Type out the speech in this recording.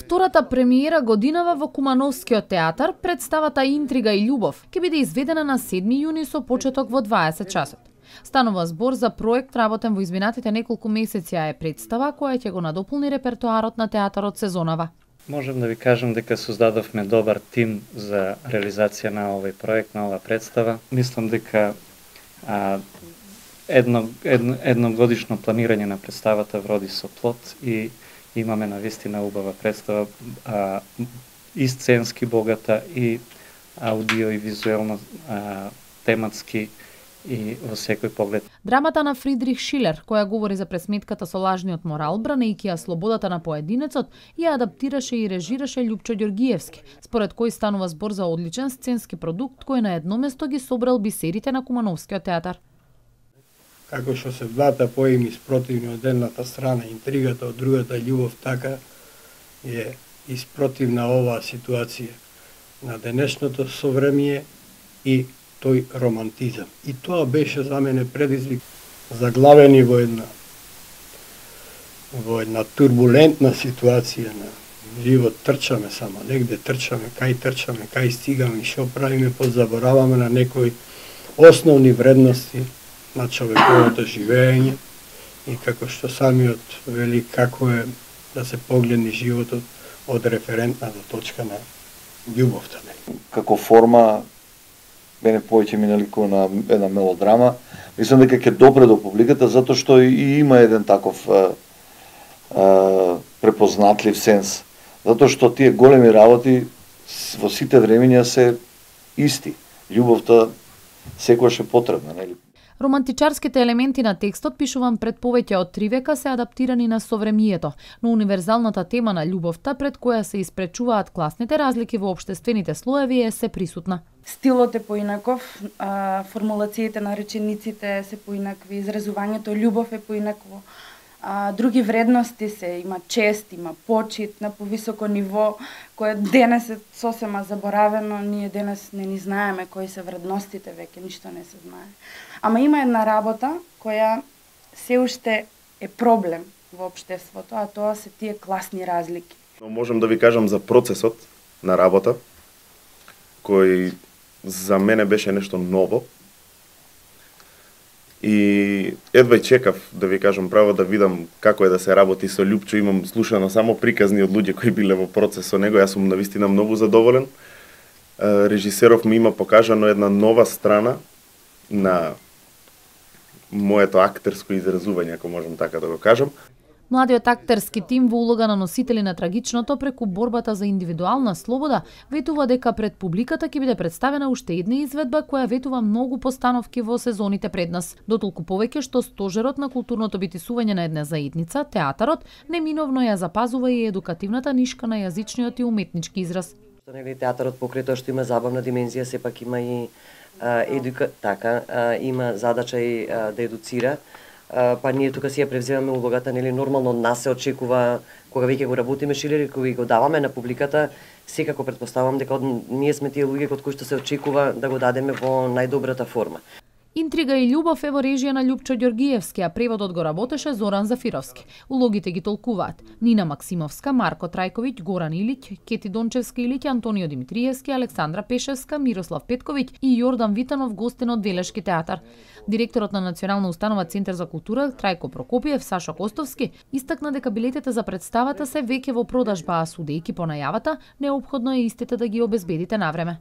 Втората премиера годинава во Кумановскиот театар, представата Интрига и љубов ќе биде изведена на 7 јуни со почеток во 20 часот. Станува збор за проект работен во изминатите неколку месеци, а е представа која ќе го надополни репертоарот на театарот сезонава. Можем да ви кажем дека создадовме добар тим за реализација на овој проект, на оваа представа. Мислам дека едногодишно планирање на представата вроди со плод и имаме навистина убава представа, и сценски богата, и аудио и визуелно тематски и во секој поглед. Драмата на Фридрих Шилер, која говори за пресметката со лажниот морал, бранејќи ја слободата на поединецот, ја адаптираше и режираше Љупчо Ѓоргиевски, според кој станува збор за одличен сценски продукт кој на едно место ги собрал бисерите на Кумановскиот театар. Како што се двата поеми спротивни од едната страна, интригата од другата љубов, така е испротивна оваа ситуација на денешното совремие и тој романтизам. И тоа беше за мене предизвик, заглавени во една турбулентна ситуација на живот. Трчаме само, негде трчаме, кај стигаме и што правиме, подзабораваме на некои основни вредности на човековото живење и како што самиот вели, како е да се погледне животот од референтната точка на љубовта. Како форма мене повеќе ми наликува на една мелодрама. Мислам дека ќе допре до публиката затоа што и има еден таков препознатлив сенс. Затоа што тие големи работи во сите времења се исти. Љубовта секогаш е потребна, нели? Романтичарските елементи на текстот, пишувам пред повеќе од 3 века, се адаптирани на совремието, но универзалната тема на љубовта, пред која се испречуваат класните разлики во општествените слоеви, е се присутна. Стилот е поинаков, формулациите на речениците се поинакви, изразувањето љубов е поинакво. Други вредности се, има чест, има почит на повисоко ниво, кое денес е сосема заборавено, ние денес не ни знаеме кои се вредностите, веќе ништо не се знае. Ама има една работа која се уште е проблем во општеството, а тоа се тие класни разлики. Но можам да ви кажам за процесот на работа, кој за мене беше нешто ново. И едва чекав, да ви кажам право, да видам како е да се работи со Љупчо. Имам слушано само приказни од луѓе кои биле во процес со него. Јас сум навистина многу задоволен. Режисеров ми има покажано една нова страна на моето актерско изразување, ако можам така да го кажам. Младиот актерски тим во улога на носители на трагичното преку борбата за индивидуална слобода ветува дека пред публиката ќе биде представена уште една изведба која ветува многу постановки во сезоните пред нас. Дотолку повеќе што стожерот на културното битисување на една заедница, театарот, неминовно ја запазува и едукативната нишка на јазичниот и уметнички израз. Нели театарот покрај тоа што има забавна димензија, сепак има и има задача и да едуцира. Па ние тука си ја превземаме улогата, нели нормално од нас се очекува кога веќе го работиме Шилер и кога го даваме на публиката, секако претпоставам дека ние сме тие луѓе кod кои што се очекува да го дадеме во најдобрата форма. Интрига и љубов е во режија на Љупчо Ѓоргиевски, а преводот го работеше Зоран Зафировски. Улогите ги толкуваат Нина Максимовска, Марко Трајковиќ, Горан Илиќ, Кети Дончевска Илиќ, Антонио Димитриевски, Александра Пешевска, Мирослав Петковиќ и Јордан Витанов, гостен од Велешки театар. Директорот на Национална установа Центар за култура Трајко Прокопиев, Сашо Костовски, истакна дека билетите за представата се веќе во продажба, а судејќи по најавата, неопходно е истите да ги обезбедите навреме.